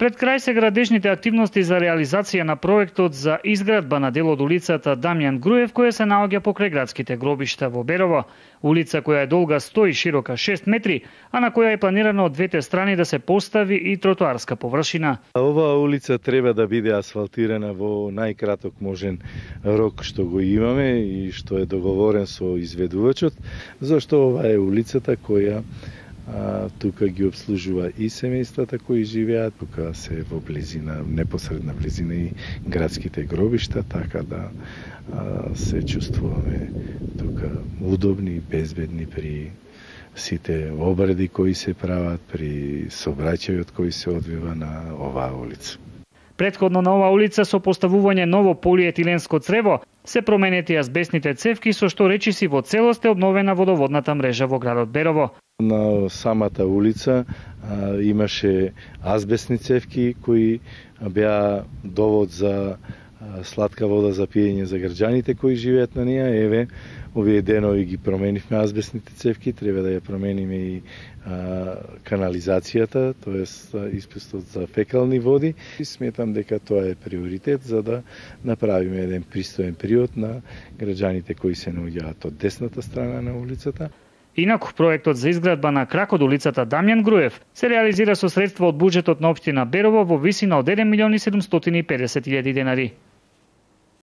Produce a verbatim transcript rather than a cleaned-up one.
Пред крај се градежните активности за реализација на проектот за изградба на дел од улицата Дамјан Груев, која се наоѓа покрај градските гробишта во Берово. Улица која е долга сто и широка шест метри, а на која е планирано од двете страни да се постави и тротоарска површина. Оваа улица треба да биде асфалтирана во најкраток можен рок што го имаме и што е договорен со изведувачот, зашто ова е улицата која А, тука ги обслужува и семејствата кои живеат, тука се во близина, непосредна близина и градските гробишта, така да а, се чувствуваме тука удобни и безбедни при сите обреди кои се прават, при сообраќајот кој се одвива на оваа улица. Претходно на оваа улица со поставување ново полиетиленско црево се променети азбестните цевки, со што речиси во целост е обновена водоводната мрежа во градот Берово. На самата улица а, имаше азбестни цевки кои беа довод за а, сладка вода за пиење за граѓаните кои живеат на неа. Еве, овие денови ги променивме азбестните цевки, треба да ја промениме и а, канализацијата, тоест испустот за фекални води. И сметам дека тоа е приоритет за да направиме еден пристоен период на граѓаните кои се наоѓаат од десната страна на улицата. Инаку, проектот за изградба на крак од улицата Дамјан Груев се реализира со средства од буџетот на општина Берово во висина од еден милион и седумстотини и педесет илјади денари.